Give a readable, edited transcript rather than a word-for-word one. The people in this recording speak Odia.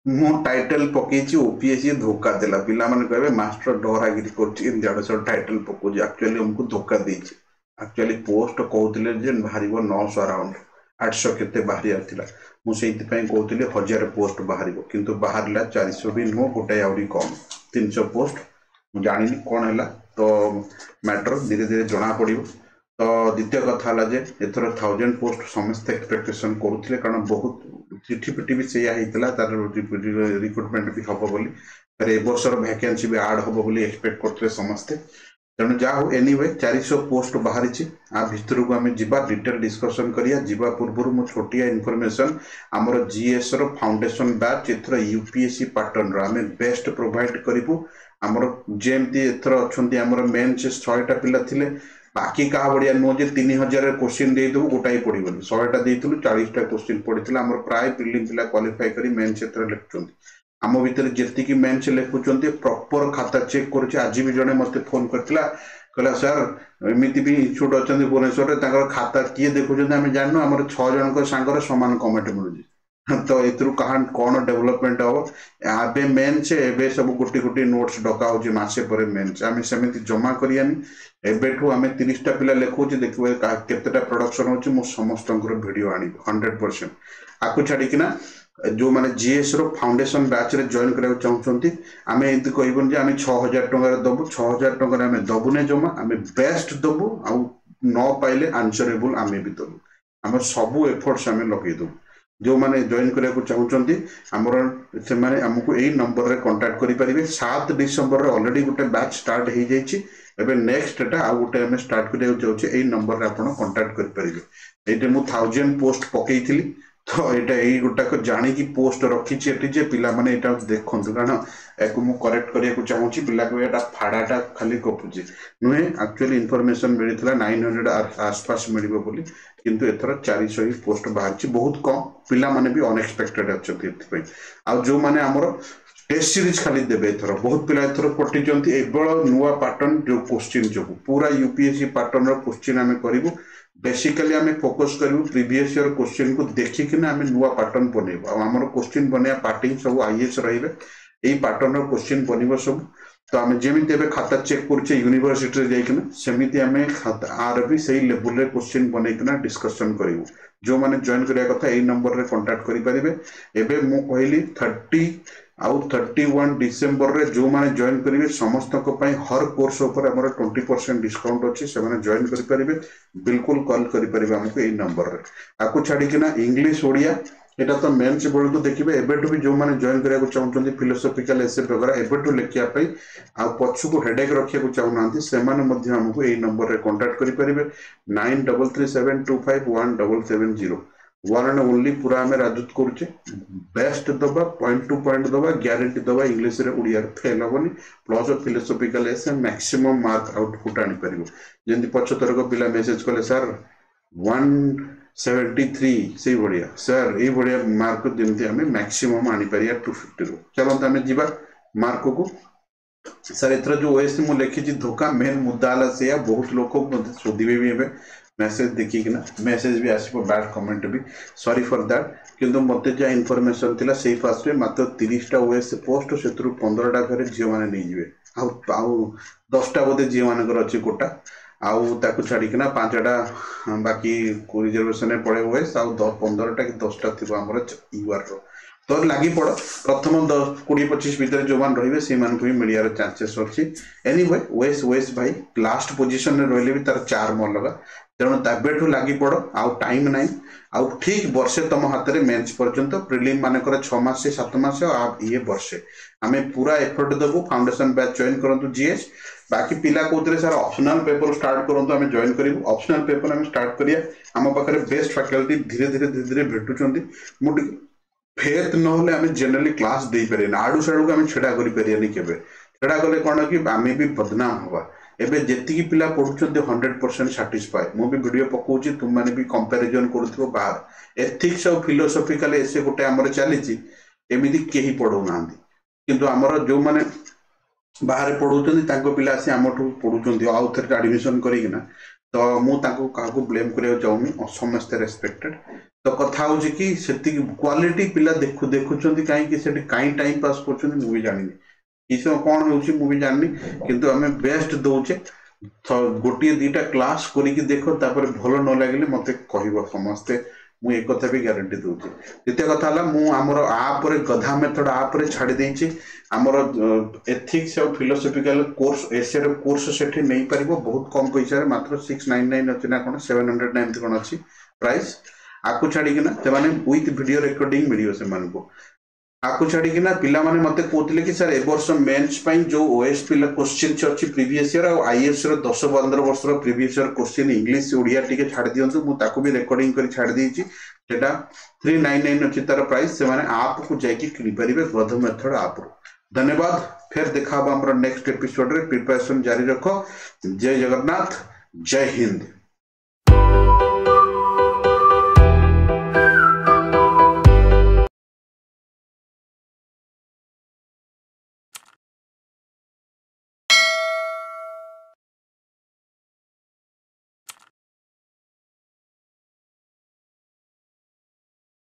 ମୁଁ ଟାଇଟେଲ ପକେଇଛି ଓପିଏସସି ଧୋକା ଦେଲା। ପିଲାମାନେ କହିବେ ମାଷ୍ଟର ଡରାଗିରି କରୁଛି, ଏମିତି ଆଡେ ସିଆଡେ ଟାଇଟେଲ ପକଉଛି। ଆକ୍ଚୁଆଲି ଆମକୁ ଧୋକା ଦେଇଛି। ଆକ୍ଚୁଆଲି ପୋଷ୍ଟ କହୁଥିଲେ ଯେ ବାହାରିବ 900 ଆରାଉଣ୍ଡ, 800 କେତେ ବାହାରିବାର ଥିଲା। ମୁଁ ସେଇଥିପାଇଁ କହୁଥିଲି 1000 ପୋଷ୍ଟ ବାହାରିବ, କିନ୍ତୁ ବାହାରିଲା 400 ବି ନୁହଁ, ଗୋଟାଏ ଆହୁରି କମ୍, 300 ପୋଷ୍ଟ। ମୁଁ ଜାଣିନି କ'ଣ ହେଲା, ତ ମ୍ୟାଟର ଧୀରେ ଧୀରେ ଜଣା ପଡ଼ିବ। ତ ଦ୍ୱିତୀୟ କଥା ହେଲା ଯେ ଏଥର 1000 ପୋଷ୍ଟ ସମସ୍ତେ ଏକ୍ସପେକ୍ଟେସନ୍ କରୁଥିଲେ, କାରଣ ବହୁତ ଚିଠି ପିଠି ବି ସେଇଆ ହେଇଥିଲା, ତାର ରିକ୍ରୁଟମେଣ୍ଟ ବି ହବ ବୋଲି। ତାର ଏ ବର୍ଷର ଭ୍ୟାକେନ୍ସି ବି ଆଡ୍ ହବ ବୋଲି ଏକ୍ସପେକ୍ଟ କରୁଥିଲେ ସମସ୍ତେ। ତେଣୁ ଯାହା ହଉ, ଏନିୱେ 400 ପୋଷ୍ଟ ବାହାରିଛି। ଆ ଭିତରକୁ ଆମେ ଯିବା, ଡିଟେଲ ଡିସ୍କସନ୍ କରିବା। ଯିବା ପୂର୍ବରୁ ମୁଁ ଛୋଟିଆ ଇନଫର୍ମେସନ୍, ଆମର ଜିଏସ୍ ର ଫାଉଣ୍ଡେସନ ବ୍ୟାଚ୍ ଏଥର ୟୁପିଏସସି ପାଟର୍ନର ଆମେ ବେଷ୍ଟ ପ୍ରୋଭାଇଡ କରିବୁ। ଆମର ଯେମିତି ଏଥର ଅଛନ୍ତି, ଆମର ମେନ୍ ସେ 100ଟା ପିଲା ଥିଲେ, ବାକି କାହା ଭଳିଆ ନୁହଁ ଯେ 3000 କୋଶ୍ଚିନ୍ ଦେଇଦେବୁ ଗୋଟାଏ ପଡ଼ିବନି। 100ଟା ଦେଇଥିଲୁ, 40ଟା କୋଶ୍ଚିନ୍ ପଡ଼ିଥିଲା। ଆମର ପ୍ରାୟ ପ୍ରିଲିମ୍ ପିଲା କ୍ୱାଲିଫାଇ କରି ମେନ୍ସ ଏଥର ଲେଖୁଛନ୍ତି। ଆମ ଭିତରେ ଯେତିକି ମେନ୍ସ ଲେଖୁଛନ୍ତି, ପ୍ରପର ଖାତା ଚେକ୍ କରୁଛି। ଆଜି ବି ଜଣେ ମୋତେ ଫୋନ୍ କରିଥିଲା, କହିଲା ସାର୍ ଏମିତି ବି ଇନଷ୍ଟିଚ୍ୟୁଟ୍ ଅଛନ୍ତି ଭୁବନେଶ୍ୱରରେ, ତାଙ୍କର ଖାତା କିଏ ଦେଖୁଛନ୍ତି ଆମେ ଜାଣିନୁ, ଆମର 6 ଜଣଙ୍କ ସାଙ୍ଗରେ ସମାନ କମେଣ୍ଟ ମିଳୁଛି। ତ ଏଥିରୁ କାହା କ'ଣ ଡେଭଲପମେଣ୍ଟ ହବ? ଏବେ ମେନ୍ସ, ଏବେ ସବୁ ଗୋଟି ଗୋଟି ନୋଟ୍ସ ଡକା ହଉଛି, ମାସେ ପରେ ମେନ୍ସ। ଆମେ ସେମିତି ଜମା କରିବାନି। ଏବେଠୁ ଆମେ 30ଟା ପିଲା ଲେଖୁଛି, ଦେଖିବ କେତେଟା ପ୍ରଡକ୍ସନ ହଉଛି। ମୁଁ ସମସ୍ତଙ୍କର ଭିଡ଼ିଓ ଆଣିବି 100%। ଆକୁ ଛାଡ଼ିକିନା ଯେଉଁମାନେ ଜିଏସ୍ ର ଫାଉଣ୍ଡେସନ ବ୍ୟାଚରେ ଜଏନ୍ କରିବାକୁ ଚାହୁଁଛନ୍ତି, ଆମେ ଏମିତି କହିବୁନି ଯେ ଆମେ 6000 ଟଙ୍କାରେ ଦବୁ। 6000 ଟଙ୍କାରେ ଆମେ ଦବୁନେ ଜମା। ଆମେ ବେଷ୍ଟ ଦବୁ, ଆଉ ନ ପାଇଲେ ଆନ୍ସରେବୁଲ ଆମେ ବି ଦବୁ। ଆମର ସବୁ ଏଫର୍ଟସ ଆମେ ଲଗେଇ ଦବୁ। ଯେଉଁମାନେ ଜଏନ୍ କରିବାକୁ ଚାହୁଁଛନ୍ତି ଆମର, ସେମାନେ ଆମକୁ ଏଇ ନମ୍ବରରେ କଣ୍ଟାକ୍ଟ କରିପାରିବେ। 7 ଡିସେମ୍ବରରେ ଅଲରେଡି ଗୋଟେ ବ୍ୟାଚ୍ ଷ୍ଟାର୍ଟ ହେଇଯାଇଛି। ଏବେ ନେକ୍ସଟଟା ଆଉ ଗୋଟେ ଆମେ ଷ୍ଟାର୍ଟ କରିବାକୁ ଯାଉଛେ। ଏଇ ନମ୍ବରରେ ଆପଣ କଣ୍ଟାକ୍ଟ କରିପାରିବେ। ଏଇଠି ମୁଁ 1000 ପୋଷ୍ଟ ପକେଇଥିଲି, ତ ଏଇଟା ଏଇ ଗୋଟାକ ଜାଣିକି ପୋଷ୍ଟ ରଖିଛି ଏଠି ଯେ ପିଲାମାନେ ଏଇଟା ଦେଖନ୍ତୁ, କାରଣ ୟାକୁ ମୁଁ କରେକ୍ଟ କରିବାକୁ ଚାହୁଁଛି। ପିଲା କହିବେ ଏଇଟା ଫାଡ଼ାଟା ଖାଲି ଗପୁଛି। ନୁହେଁ, ଆକ୍ଚୁଆଲି ଇନଫର୍ମେସନ ମିଳିଥିଲା 900 ଆସପାସ ମିଳିବ ବୋଲି, କିନ୍ତୁ ଏଥର 400 ହିଁ ପୋଷ୍ଟ ବାହାରିଛି, ବହୁତ କମ୍। ପିଲାମାନେ ବି ଅନଏକ୍ସପେକ୍ଟେଡ ଅଛନ୍ତି ଏଥିପାଇଁ। ଆଉ ଯେଉଁମାନେ ଆମର ଟେଷ୍ଟ ସିରିଜ ଖାଲି ଦେବେ, ଏଥର ବହୁତ ପିଲା ଏଥର କଟିଛନ୍ତି। ଏବେଳ ନୂଆ ପାଟର୍ନ ଯୋଉ କୋଶ୍ଚିନ୍ ଯୋଗୁ ପୁରା ୟୁପିଏସସି ପାଟର୍ନର କୋଶ୍ଚିନ୍ ଆମେ କରିବୁ। ବେସିକାଲି ଆମେ ଫୋକସ୍ କରିବୁ ପ୍ରିଭିୟସ୍ ଇୟର କୋଶ୍ଚିନ୍କୁ ଦେଖିକିନା ଆମେ ନୂଆ ପାଟର୍ନ ବନେଇବୁ। ଆଉ ଆମର କୋଶ୍ଚିନ୍ ବନେଇବା ପାର୍ଟି ସବୁ ଆଇଏଏସ୍ ରହିବେ। ଏଇ ପାଟର୍ନର କୋଶ୍ଚିନ୍ ବନିବ ସବୁ। ତ ଆମେ ଯେମିତି ଏବେ ଖାତା ଚେକ୍ କରୁଛେ ୟୁନିଭର୍ସିଟିରେ ଯାଇକିନା, ସେମିତି ଆମେ ଆର ବି ସେଇ ଲେବୁଲରେ କୋଶ୍ଚିନ୍ ବନେଇକିନା ଡିସ୍କସନ୍ କରିବୁ। ଯେଉଁମାନେ ଜଏନ୍ କରିବା କଥା ଏଇ ନମ୍ବରରେ କଣ୍ଟାକ୍ଟ କରିପାରିବେ। ଏବେ ମୁଁ କହିଲି 30 ଆଉ 31 ଡିସେମ୍ବରରେ ଯେଉଁମାନେ ଜଏନ୍ କରିବେ, ସମସ୍ତଙ୍କ ପାଇଁ ହର କୋର୍ସ ଉପରେ ଆମର 20% ଡିସକାଉଣ୍ଟ ଅଛି। ସେମାନେ ଜଏନ୍ କରିପାରିବେ, ବିଲକୁଲ କଲ୍ କରିପାରିବେ ଆମକୁ ଏଇ ନମ୍ବରରେ। ଆକୁ ଛାଡ଼ିକିନା ଇଂଲିଶ ଓଡ଼ିଆ ଏଇଟା ତ ମେନ୍ସ ବେଳକୁ ଦେଖିବେ। ଏବେଠୁ ବି ଯେଉଁମାନେ ଜଏନ୍ କରିବାକୁ ଚାହୁଁଛନ୍ତି, ଫିଲୋସଫିକାଲ ଏସେ ବଗେରା ଏବେଠୁ ଲେଖିବା ପାଇଁ ଆଉ ପଛକୁ ହେଡେକ୍ ରଖିବାକୁ ଚାହୁଁନାହାନ୍ତି, ସେମାନେ ମଧ୍ୟ ଆମକୁ ଏଇ ନମ୍ବରରେ କଣ୍ଟାକ୍ଟ କରିପାରିବେ, 9337251770, ୱାନ୍ ଆଣ୍ଡ ଓନ୍ଲି। ପୁରା ଆମେ ରାଜୁତ କରୁଛେ, ବେଷ୍ଟ ଦବା, ପଏଣ୍ଟ ଟୁ ପଏଣ୍ଟ ଦବା, ଗ୍ୟାରେଣ୍ଟି ଦବା। ଇଂଲିଶରେ ଓଡ଼ିଆରେ ଫେଲ୍ ହବନି, plus philosophical essay maximum mark output ଆଣିପାରିବ। ଯେମିତି ପଛଥରକ ପିଲା ମେସେଜ କଲେ, ସାର୍ 173, ସେଇଭଳିଆ ସାର୍, ଏଇଭଳିଆ ମାର୍କ ଯେମିତି ଆମେ ମ୍ୟାକ୍ସିମମ୍ ଆଣିପାରିବା 250ରୁ। ଚାଲନ୍ତୁ ଆମେ ଯିବା ମାର୍କକୁ। ସାର୍ ଏଥର ଯୋଉ ଓଏସ୍ ମୁଁ ଲେଖିଛି ଧୋକା, ମେନ୍ ମୁଦ୍ଦା ହେଲା ସେଇଆ। ବହୁତ ଲୋକ ମୋତେ ଶୋଧିବେ ବି ଏବେ ମେସେଜ ଦେଖିକିନା, ମେସେଜ ବି ଆସିବ, bad comment B, sorry for that. କିନ୍ତୁ ମୋତେ ଯାହା ଇନଫର୍ମେସନ୍ ଥିଲା ସେଇ ଫାଷ୍ଟରେ ମାତ୍ର 30ଟା ଓଏସ୍ ପୋଷ୍ଟ, ସେଥିରୁ 15ଟା ଘରେ ଝିଅମାନେ ନେଇଯିବେ, ଆଉ 10ଟା ବୋଧେ ଝିଅମାନଙ୍କର ଅଛି କୋଟା। ଆଉ ତାକୁ ଛାଡ଼ିକିନା 5ଟା ବାକି ରିଜର୍ଭେସନରେ ପଳେଇବ ଓଏସ୍, ଆଉ 15ଟା କି 10ଟା ଥିବ ଆମର ୟୁଆର୍ର। ତ ଲାଗି ପଡ଼, ପ୍ରଥମ 10 20 25 ଭିତରେ ଯେଉଁମାନେ ରହିବେ ସେଇମାନଙ୍କୁ ହିଁ ମିଳିବାର ଚାନ୍ସେସ୍ ଅଛି। ଏନିୱେ ଓଏସ୍ ଓଏସ୍ ଭାଇ, ଲାଷ୍ଟ ପୋଜିସନରେ ରହିଲେ ବି ତାର ଚାର୍ମ ଅଲଗା। ତେଣୁ ଏବେଠୁ ଲାଗି ପଡ଼, ଆଉ ଟାଇମ୍ ନାହିଁ। ଆଉ ଠିକ୍ ବର୍ଷେ ତମ ହାତରେ ମେନ୍ସ ପର୍ଯ୍ୟନ୍ତ। ପ୍ରିଲିମ୍ ମାନଙ୍କର 6 ମାସ 7 ମାସ, ଆଉ ଇଏ ବର୍ଷେ। ଆମେ ପୁରା ଏଫର୍ଟ ଦେବୁ। ଫାଉଣ୍ଡେସନ ବ୍ୟାଚ୍ ଜଏନ୍ କରନ୍ତୁ ଜିଏସ୍। ବାକି ପିଲା କହୁଥିଲେ ସାର୍ ଅପସନାଲ ପେପର ଷ୍ଟାର୍ଟ କରନ୍ତୁ, ଆମେ ଜଏନ୍ କରିବୁ। ଅପସନାଲ ପେପର ଆମେ ଷ୍ଟାର୍ଟ କରିବା। ଆମ ପାଖରେ ବେଷ୍ଟ ଫ୍ୟାକଲ୍ଟି ଧୀରେ ଧୀରେ ଧୀରେ ଧୀରେ ଭେଟୁଛନ୍ତି। ମୁଁ ଟିକେ ଫେଥ୍ ନହେଲେ ଆମେ ଜେନେରାଲି କ୍ଲାସ୍ ଦେଇପାରିବାନି। ଆଡୁ ସାଡୁକୁ ଆମେ ଛିଡ଼ା କରିପାରିବାନି କେବେ। ଛିଡ଼ା କଲେ କ'ଣ କି ଆମେ ବି ବଦନାମ ହବା। ଏବେ ଯେତିକି ପିଲା ପଢୁଛନ୍ତି 100% ସାଟିସ୍ଫାଏ। ମୁଁ ବି ଭିଡ଼ିଓ ପକଉଛି, ତୁମମାନେ ବି କମ୍ପାରିଜନ କରୁଥିବ ବାହାର। ଏଥିକ୍ସ ଆଉ ଫିଲୋସଫିକାଲ ଏସେ ଗୋଟେ ଆମର ଚାଲିଛି, ଏମିତି କେହି ପଢଉନାହାନ୍ତି। କିନ୍ତୁ ଆମର ଯେଉଁମାନେ ବାହାରେ ପଢଉଛନ୍ତି, ତାଙ୍କ ପିଲା ଆସି ଆମଠୁ ପଢୁଛନ୍ତି ଆଉ ଥରେ ଆଡମିସନ କରିକିନା। ତ ତ ମୁଁ ତାଙ୍କୁ କାହାକୁ ବ୍ଲେମ୍ କରିବାକୁ ଚାହୁଁନି, ସମସ୍ତେ ରେସ୍ପେକ୍ଟେଡ୍। ତ କଥା ହେଉଛି କି ସେତିକି କ୍ୱାଲିଟି ପିଲା ଦେଖୁଛନ୍ତି କାହିଁକି, ସେଠି କାହିଁ ଟାଇମ୍ ପାସ୍ କରୁଛନ୍ତି ମୁଁ ବି ଜାଣିନି, କି କ'ଣ ହେଉଛି ମୁଁ ବି ଜାଣିନି, କିନ୍ତୁ ଆମେ ବେଷ୍ଟ ଦେଉଛେ। ଗୋଟିଏ 2ଟା କ୍ଲାସ୍ କରିକି ଦେଖ, ତାପରେ ଭଲ ନ ଲାଗିଲେ ମୋତେ କହିବ ସମସ୍ତେ, ମୁଁ ଏକଥା ବି ଗ୍ୟାରେଣ୍ଟି ଦେଉଛି। ଦ୍ୱିତୀୟ କଥା ହେଲା ମୁଁ ଆମର ଆପ୍ରେ ଗଧା ମେଥଡ଼ ଆପ୍ରେ ଛାଡ଼ି ଦେଇଛି ଆମର ଏଥିକ୍ସ ଆଉ ଫିଲୋସଫିକାଲ କୋର୍ସ, ଏସେର କୋର୍ସ ସେଠି ନେଇପାରିବ ବହୁତ କମ୍ ପଇସାରେ, ମାତ୍ର 699 ଅଛି ନା କ'ଣ, 700 ନା ଏମିତି କ'ଣ ଅଛି ପ୍ରାଇସ୍। ଆକୁ ଛାଡ଼ିକିନା ସେମାନେ ୱିଥ୍ ଭିଡ଼ିଓ ରେକର୍ଡିଂ ମିଳିବ ସେମାନଙ୍କୁ। ଆକୁ ଛାଡ଼ିକିନା ପିଲାମାନେ ମୋତେ କହୁଥିଲେ କି ସାର୍ ଏ ବର୍ଷ ମେନ୍ସ ପାଇଁ ଯେଉଁ ଓଏସ୍ ପିଲା କୋଶ୍ଚିନ୍ସ ଅଛି ପ୍ରିଭିୟସ୍ ଇୟର୍ ଆଉ ଆଇଏଏସ୍ର 10-15 ବର୍ଷର previous year question English Odia ଟିକେ ଛାଡ଼ି ଦିଅନ୍ତୁ, ମୁଁ ତାକୁ ବି ରେକର୍ଡିଂ କରି ଛାଡ଼ି ଦେଇଛି। ସେଟା 399 ଅଛି ତାର ପ୍ରାଇସ୍, ସେମାନେ ଆପ୍କୁ ଯାଇକି କିଣିପାରିବେ ଗଧ ମେଥଡ଼ ଆପ୍ରୁ। ଧନ୍ୟବାଦ, ଫେର ଦେଖା ହବ ଆମର ନେକ୍ସଟ ଏପିସୋଡରେ। ପ୍ରିପାରେସନ୍ ଜାରି ରଖ। ଜୟ ଜଗନ୍ନାଥ, ଜୟ ହିନ୍ଦ।